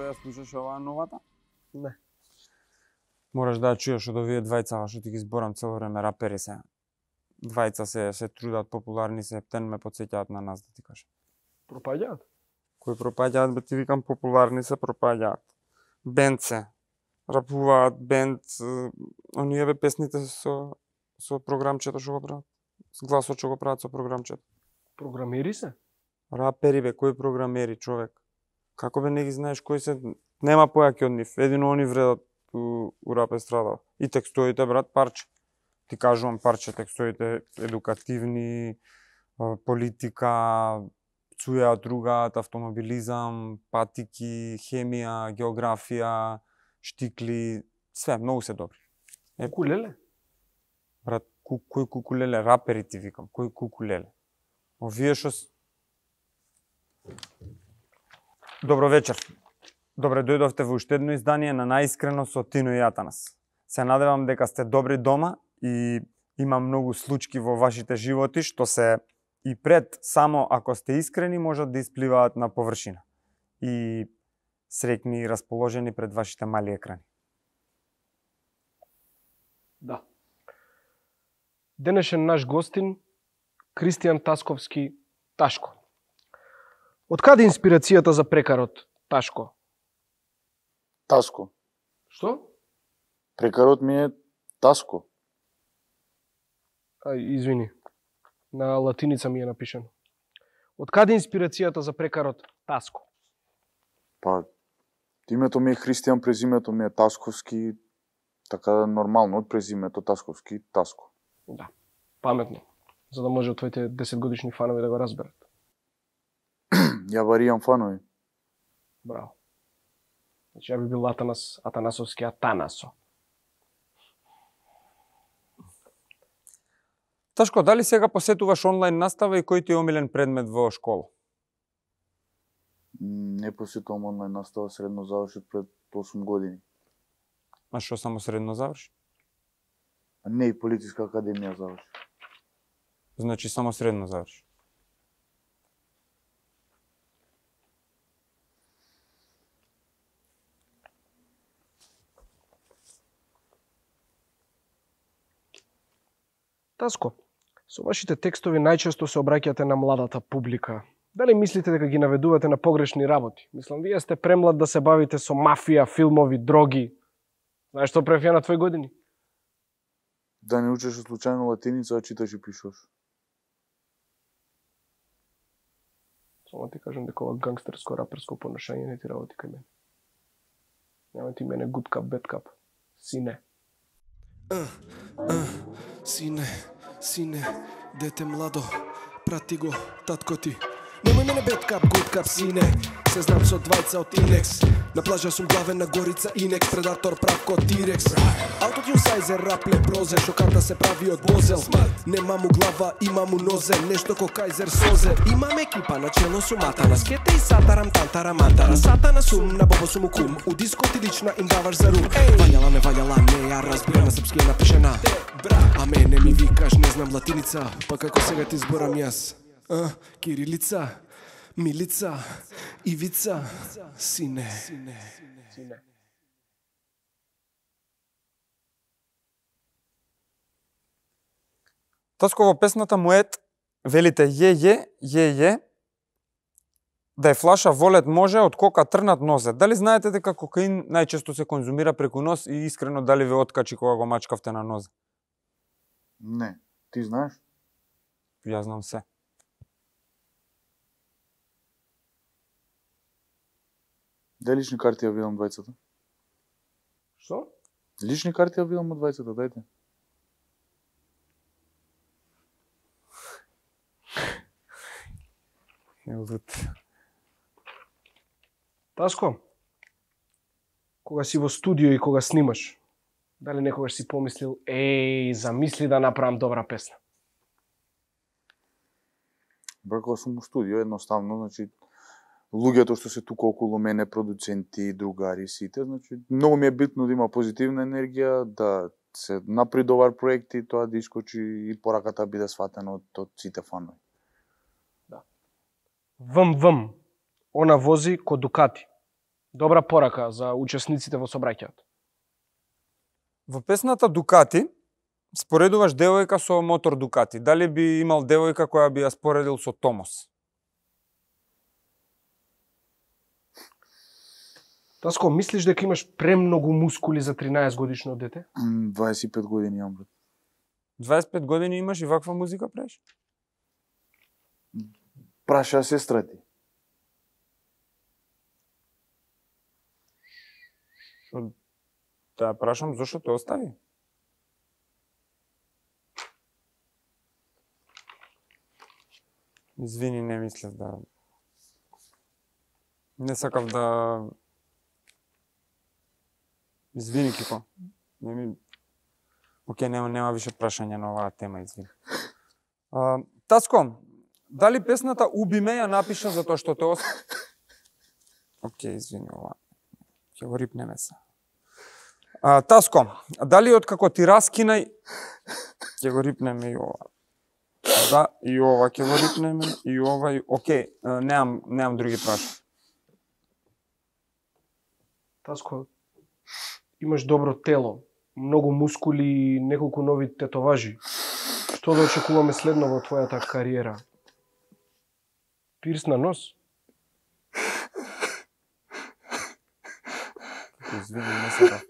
ја слушаш оваа новата? Не. Мораш да ја чуеш од овие двајца, што ти ги зборам цело време, рапери се. Двајца се трудат, популарни се, птен ме потсеќаат на нас, да ти кажам. Пропаѓаат? Кои пропаѓаат, бе ти викам, популарни се, пропаѓаат. Бенд се. Рапуваат, бенд, оние бе песните со програмчето што го прават. С гласот што го прават со програмчето. Програмери се? Рапери бе, кои програмери, човек? Како бе не ги знаеш кои се? Нема појаки од нив, едино они вредат у рап естрада. И текстовите, брат, парче. Ти кажувам парче, текстовите едукативни, политика, цуја, другаат, автомобилизам, патики, хемија, географија, штикли, све, многу се добри. Кукулеле? Брат, кој кукулеле? Рапери ти викам, кој кукулеле? Овие што... Добро вечер. Добре дојдовте во уште едно издание на Наискрено со Тино и Атанас. Се надевам дека сте добри дома и има многу случки во вашите животи што се и пред само ако сте искрени можат да испливаат на површина. И среќни и расположени пред вашите мали екрани. Да. Денешен наш гостин Кристијан Тасковски Ташко. Од каде инспирацијата за прекарот Ташко? Таско. Што? Прекарот ми е Таско. Извини. На латиница ми е напишано. Од каде инспирацијата за прекарот Таско? Па, името ми е Христијан, презимето ми е Тасковски, така нормално од презимето Тасковски, Таско. Да, паметно. За да може твоите 10-годишни фанови да го разберат. Ја варијам фанови. Браво. Значи, ја би бил Атанасовски Атанасо. Ташко, дали сега посетуваш онлайн настава и кој ти е омилен предмет во школа? Не посетувам онлайн настава, средно завршив пред 8 години. А што само средно заврши? Не, и Политичка академија завршив. Значи само средно заврши. Таско, со вашите текстови најчесто се обраќате на младата публика. Дали мислите дека ги наведувате на погрешни работи? Мислам, вие сте премлад да се бавите со мафија, филмови, дроги. Знаеш што прев ја на твои години? Да не учеше случајно латиница, а читаш и пишеш. Само ти кажам дека ова гангстерско, раперско поношање не ти работи кај мене. Нема ти мене good cup, bad cup. Сине. Сине, дете младо, прати го, татко ти. Немој мене bad cup, good cup, сине. Се знам со двајца од Инекс. На плажа сум главен на горица Инекс, предатор прав ко Тирекс. Аутотюн сайзер, рапле, прозе, шокарта се прави од бозел. Нема му глава, има му нозе, нешто ко Кајзер Созе. Имам екипа на чело сум Атанас, кете и сатарам, тантара, мантара. Сатана сум, на бобо сум кум, у дискоти лична им даваш за рум. Вајала, не ја разбира на српски е напишена. А мене ми викаш, не знам латиница, па како сега ти зборам јас. Кирилица, Милица, Ивица, сине. Таско во песната Моет велите е, да е флаша волет може, од кока трнат нозе. Дали знаете дека кокаин најчесто се конзумира преку нос и искрено дали ве откачи кога го мачкавте на нозе? Не, ти знаеш? Јас знам се. Дај лични карти ја видам двајцата. Што? Лични карти ја видам од двајцата, дајте. Таско, кога си во студио и кога снимаш, дали некогаш си помислил, замисли да направам добра песна? Кога сум во студио, едноставно, значи, луѓето што се тука околу мене, продуценти, другари, сите, значи, многу ми е битно да има позитивна енергија, да се направи добар проект и тоа да искочи и пораката биде сватена од сите фанови. Да. Вм, она вози ко Дукати. Добра порака за учесниците во собраќајот. Во песната Дукати споредуваш девојка со мотор Дукати. Дали би имал девојка која би ја споредил со Томос? Таско, мислиш дека имаш премногу мускули за 13 годишно дете? 25 години имам, брат. 25 години имаш и ваква музика правиш? Праша сестра ти. Шо да ја прашам зошто те остави? Извини, не мислев да... Не сакав да... Извини, Кико. Не ми... Океј, нема више прашања на оваа тема, извини. Таско, дали песната Уби ме ја напиша затоа што те Океј, извини, ова. Ќе го рипнеме се. Таско, дали откако ти раскинај... Ќе го рипнеме и ова. Да, и ова ќе го рипнеме, и ова, и... Океј, немам други прашања. Таско, имаш добро тело, многу мускули и неколку нови тетоважи. Што да очекуваме следно во твојата кариера? Пирс на нос? Извини, не сакав.